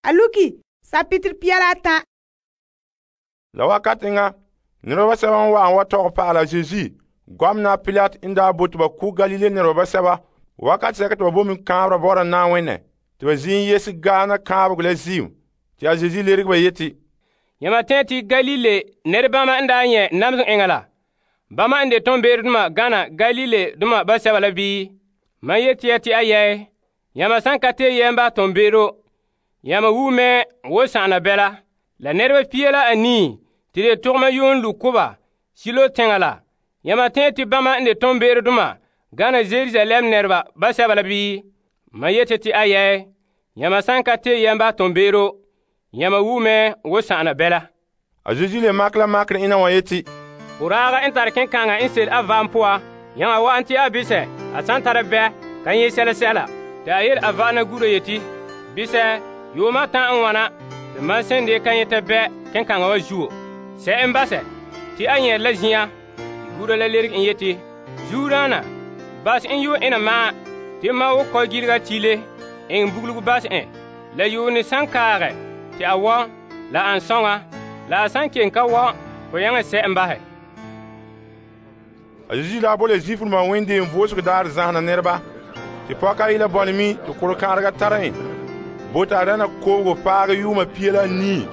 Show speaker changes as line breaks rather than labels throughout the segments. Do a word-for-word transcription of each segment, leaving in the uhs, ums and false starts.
a luki sapitiri pia la atan.
La wakati nga nɛreba basɛba n wa'an wa tɔgɛ pa'ala Yesu, gɔmena Pilate n daa bote ba ku Galilee nɛreba basɛba wakati sɛka te ba bo min kaanbera bɔ'ɔra Na'ayenɛ te ba ziin yese gaana kaanbegɔ la ziim. Te a Yesu lerege ba yeti,
Yama tɛɛ te Galilee nɛrebama n daa nyɛ namesem eŋa la, bama n de toonbeeredoma gana Galilee-doma basɛba la bii? Mam yeti ya te a yɛɛ, yama san ka tee yɛm ba toonbeero, yama wu mɛ wo sa'ana bɛla. La nɛreba pia la anii te de togama yuun lu koba Silo teŋa la, yama tɛɛ te bama n de toonbeeredoma gana Jerusalem nɛreba basɛba la bii? Mam yeti te a yɛɛ, yama san ka tee yɛm ba toonbeero, yama wu mɛ wo sa'ana bɛla.
A Yesu le makɛ la makerɛ ina wa yeti,
Boraaga n tare kenkaŋa n sel a vaam poa, yãga wa'an te a bisɛ a san tara bɛ ka nyɛ sɛla sɛla. Te a yele a va'ana gura yeti, bisɛ, yuuma atan n wana te mam sen de ka nyɛta bɛ kenkaŋa wa zuo. Sɛ n basɛ te a nyɛrɛ la zĩa. Gura la lerege n yeti, Zuodaana, bas n yuun ena maa te ma wo kɔ gilga tile eŋɛ bugulugu bas en. La yuune san kaagɛ te a wɔn la an sɔŋa, la a san ken ka wɔn ko yaŋɛ sɛ n basɛ.
A Yesu la bo le Zuifreba wẽndeem voosego daarɛ zãhena nɛreba te pɔka ayi la bɔne mi te korɔ-kãarega tara en bo ta dɛna koobego paagɛ yuuma pia la nii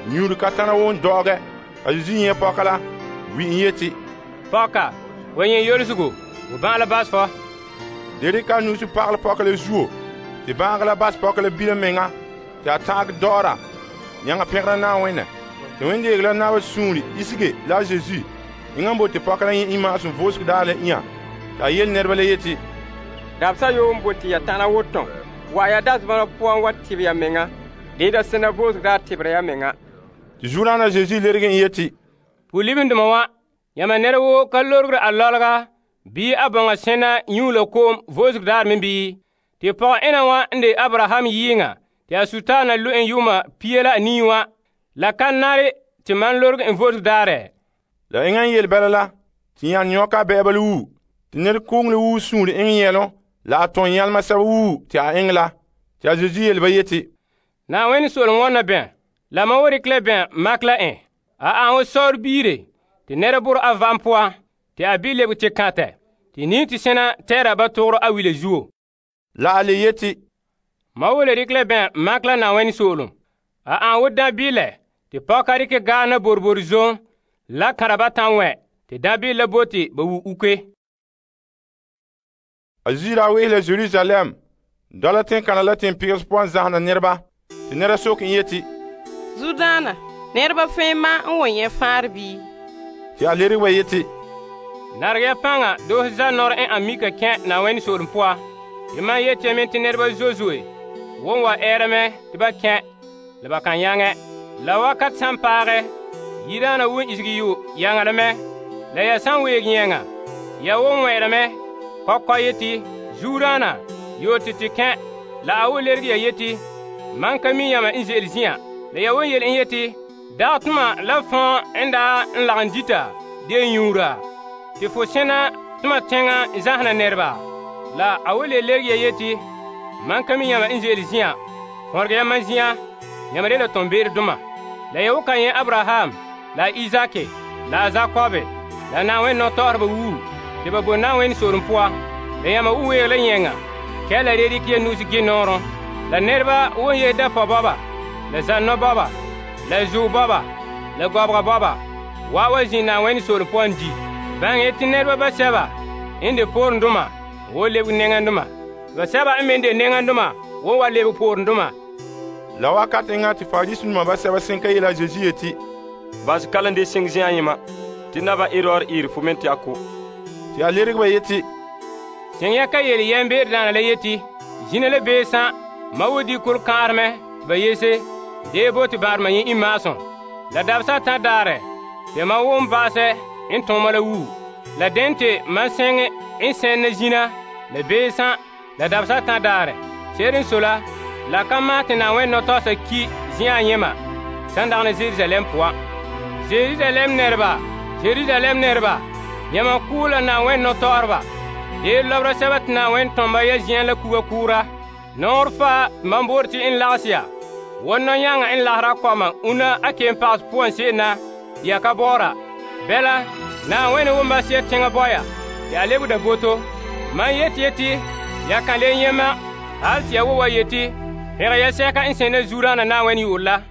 nyuuri ka tana won dɔgɛ. A Yesu nyɛ pɔka la wi n yeti,
Pɔka, wa nyɛ yolsego, wo bãa la bas fɔ.
Dere ka nuusi pagelɛ pɔka la zuo te bãagɛ la bas pɔka la bila meŋa te a ta'agɛ dɔɔra yãŋa pẽgera Na'ayenɛ. Te wẽndeege la naba suunre isege la a Yesu yĩŋa n bote pɔka la yẽ imaasem voosego daar la ĩa. Te a yele nɛreba la yeti,
Dabsa yoo n bote ya tãna wotɔn, wa ya dasema la puan wa tɩb ya menga, deeda sẽna voosego daa tɩbra ya menga.
Te Zuodaana Yesu lerege n yeti,
Pu-libendoma wã, yãma nɛra woo ka lorgre a lɔlga bii a bõnga sẽna yũu la koom voosego daar me bii? Te pɔgɔ ena wã n de Abraham yɩɩŋa te a sutaana lo en yʋʋma pia la anii wã, la ka nare te man lorg en voosego daarɛ?
La eŋa n yele bɛla la tɩ yãn yõka a bɛɛba la wuu tɩ ned kʋʋng la wuu sũur eŋ yɛlõ la a tõn yãlema sɛba wuu tɩ a eŋ la. Tɩ a Yesu yele ba yeti,
Na'ayenɛ soolem wãnna bẽ, la mam wa rɩk la bẽ mak la ẽ. A ãn wo saoor biire tɩ nɛra bʋr a vam poa tɩ a bɩ lebg tɩ kãtɛ tɩ nii tɩ sẽna tɛɛra ba togro a wila zuo.
La a le yeti,
Mam wa le rɩk la bẽ mak la Na'ayenɛ soolem. A ãn wo dãn-bɩɩlɛ tɩ pɔka rɩkɛ gaana borbor zom la kãra ba tãn wɛ tɩ dãn-bɩɩl la bote ba wu uke.
A Yesu la wehe la Jerusalem dɔla teŋkãna la tẽn-pɩgs pʋgẽ zãsena nɛreba tɩ nɛra sok n yeti,
Zuodaana, nɛreba fẽe ma n wa nyɛ fãar bii?
tɩ a lereg ba yeti,
Narg ya pãnga doos za-nɔr n ãn mika kẽ Na'ayenɛ soolem poa. Tɩ mam yetɩ me tɩ nɛreba zoe-zoe won wa ɛɛrame tɩ ba kẽ la ba kan yãŋɛ. La wakat san paagɛ, yidaana wun isgi yo yaŋadame, la ya san weeg yẽŋa, ya won wɛ'ɛrame kɔkɔ yeti, Zuodaana, yoo tɩ tɩ kẽ, la a wo lerg ya yeti, mam ka mi yãmba n ze'ele zĩyã. La ya won yel n yeti, dag tʋma la fõo n daa n lagem dita de yũura, tɩ fo sẽna tʋma tẽŋa n zãsena nɛreba. La a wo le lerg ya yeti, mam ka mi yãmba n ze'ele zĩyã, fõrg ya mam zĩyã, yãmb de la tõn-beeredoma. La ya wo ka yẽ Abraham, la Izake, la a Zakobe, la Na'ayenɛ nɔtɔgɔreba wuu tɩ ba bo Na'ayenɛ soolem poa. La yãmba wʋ weeg la yẽŋa, kɛ la re dɩk ya nuus gẽ noorẽ. La nɛreba won yee dapɔ bɔba, la zãnnɔ bɔba, la zuo bɔba, la gɔbga bɔba, wa wa zĩ Na'ayenɛ soolem poan di. Bãng yetɩ nɛreba basɛba n de poorendoma wo lebg neŋandoma, basɛba n me n de neŋandoma wo wa lebg poorendoma.
La wakat eŋa tɩ Fariseedoma basɛba sẽn ka yela a Yesu yeti,
Bas kalem de sɩng zĩyã yẽma tɩ naba Erɔd ɩɩr fo me tɩ a ko.
tɩ a lereg ba yeti,
Sẽn yã ka yel yɛm-beedaana la yeti, zĩna la beesã, ma wo di kʋr-kãarmɛ tɩ ba yese, dee bo tɩ bãadema yẽ imaasem. La dabsã tã daarɛ, tɩ ma wʋm baasɛ n tõoma la wuu. La dẽn tɩ mam sẽng n sẽnna zĩna, la beesã, la dabsã tã daarɛ. Seed n so la, la ka maas tɩ Na'ayenɛ nɔtɔgsa ki zĩyã yẽma sãn dagna Jerusalem poan. Jerusalem nɛreba, Jerusalem nɛreba, yãmã kʋʋ la Na'ayenɛ nɔtɔgreba. Dee lɔbra sɛba tɩ Na'ayenɛ tõmba ya zĩyã la kuga kʋʋra. Nɔɔr faa mam boor tɩ n lags ya, Won nɔyaŋa n lahara kɔma una a keem pagos poan se'em na ya ka bɔɔra. Bɛla, Na'ayenɛ won ba se'em teŋa bɔya te a lebe da boto. Mam yeti yeti ya kan le nyɛ' mam hal te ya wo wa yeti pɛngɛ yɛsɛka n sene Zuodaana Na'ayenɛ yu'urɛ la.